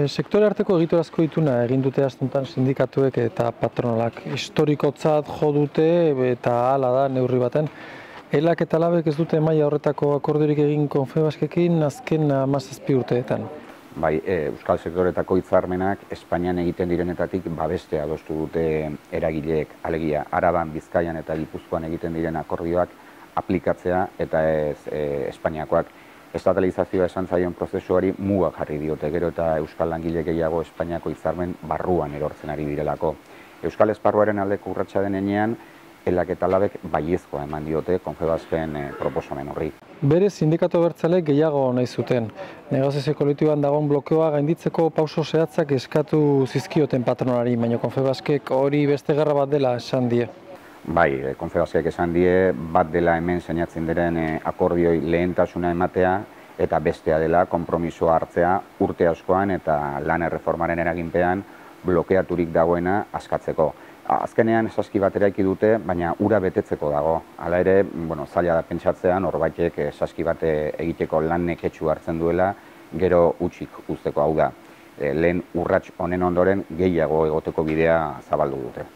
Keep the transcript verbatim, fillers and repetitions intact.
Sektore arteko egiturazko ituna egin dute astuntan sindikatuek eta patronalak. Historikotzat jo dute eta hala da neurri baten. Elak eta labek ez dute maila horretako akordiorik egin Confebaskekin azken hamazazpi urteetan. Bai, Euskal sektoretako hitzarmenak Espainian egiten direnetatik babestea adostu dute eragileek, alegia Araban, Bizkaian eta Gipuzkoan egiten diren akordioak aplikatzea eta ez e, Espainiakoak. Estatalizazioa esan zaion prozesuari mugak jarri diote, gero eta Euskal langile gehiago Espainiako hitzarmen barruan erortzen ari direlako. Euskal esparruaren aldeko urratsa den heinean, Elak eta labek baiezkoa eman diote Confebasken e, proposamen horri. Bere sindikatu abertzaleek gehiago nahi zuten. Negoziazio kolektiboan dagoen blokeoa gainditzeko pauso zehatzak eskatu zizkioten patronari, baina Confebaskek hori beste gerra bat dela esan die. Bai, Confebaskek esan die bat dela hemen sinatzen diren e, akordioi lehentasuna ematea eta bestea dela konpromisoa hartzea urte askoan eta lan erreformaren eraginpean blokeaturik dagoena askatzeko. Azkenean saski bat eraiki dute, baina ura betetzeko dago. Hala ere, bueno, zaila da pentsatzean, horbaitek saski bat egiteko lan neketsu hartzen duela, gero utzik uzteko hau da. Lehen urrats honen ondoren gehiago egoteko bidea zabaldu dute.